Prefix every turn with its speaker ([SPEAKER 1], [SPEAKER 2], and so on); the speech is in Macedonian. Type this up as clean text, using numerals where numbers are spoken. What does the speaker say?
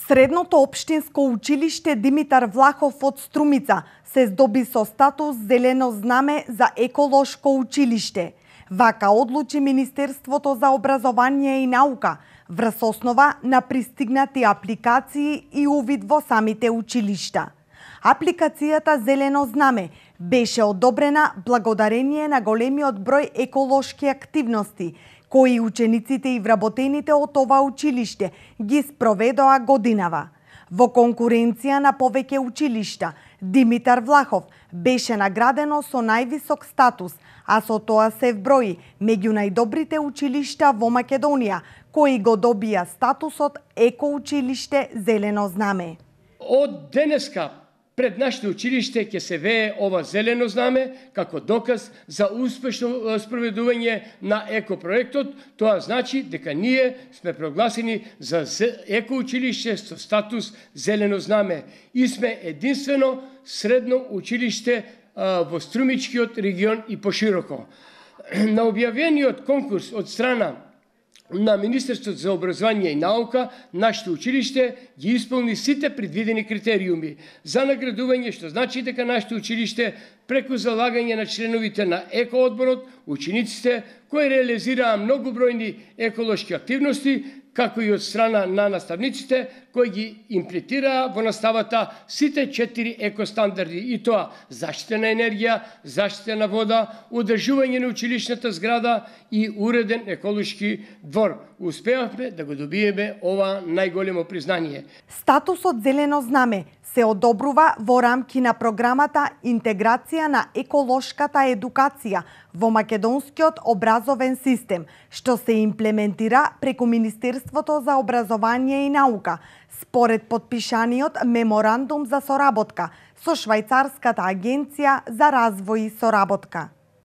[SPEAKER 1] Средното општинско училиште Димитар Влахов од Струмица се здоби со статус зелено знаме за еколошко училиште. Вака одлучи Министерството за образование и наука врз основа на пристигнати апликации и увид во самите училишта. Апликацијата Зелено знаме беше одобрена благодарение на големиот број еколошки активности кои учениците и вработените од ова училиште ги спроведоа годинава. Во конкуренција на повеќе училишта, Димитар Влахов беше наградено со највисок статус, а со тоа се вброи меѓу најдобрите училишта во Македонија, кои го добија статусот екоучилиште Зелено знаме.
[SPEAKER 2] Од денеска пред нашето училиште ќе се вее ова зелено знаме како доказ за успешно спроведување на екопроектот. Тоа значи дека ние сме прогласени за екоучилиште со статус зелено знаме и сме единствено средно училиште во Струмичкиот регион и пошироко. На објавениот конкурс од страна на Министерството за образование и наука, нашето училиште ги исполни сите предвидени критериуми за наградување, што значи дека нашето училиште преку залагање на членовите на екоодборот, учениците кои реализираа многобројни еколошки активности, како и од страна на наставниците кои ги имплементираа во наставата сите 4 екостандарди, и тоа заштита на енергија, заштита на вода, одржување на училишната зграда и уреден еколошки двор. Успеавме да го добиеме ова најголемо признание.
[SPEAKER 1] Статусот Зелено знаме се одобрува во рамки на програмата Интеграција на еколошката едукација во македонскиот образовен систем, што се имплементира преку Министерството за образование и наука, според подпишаниот меморандум за соработка со Швајцарската агенција за развој и соработка.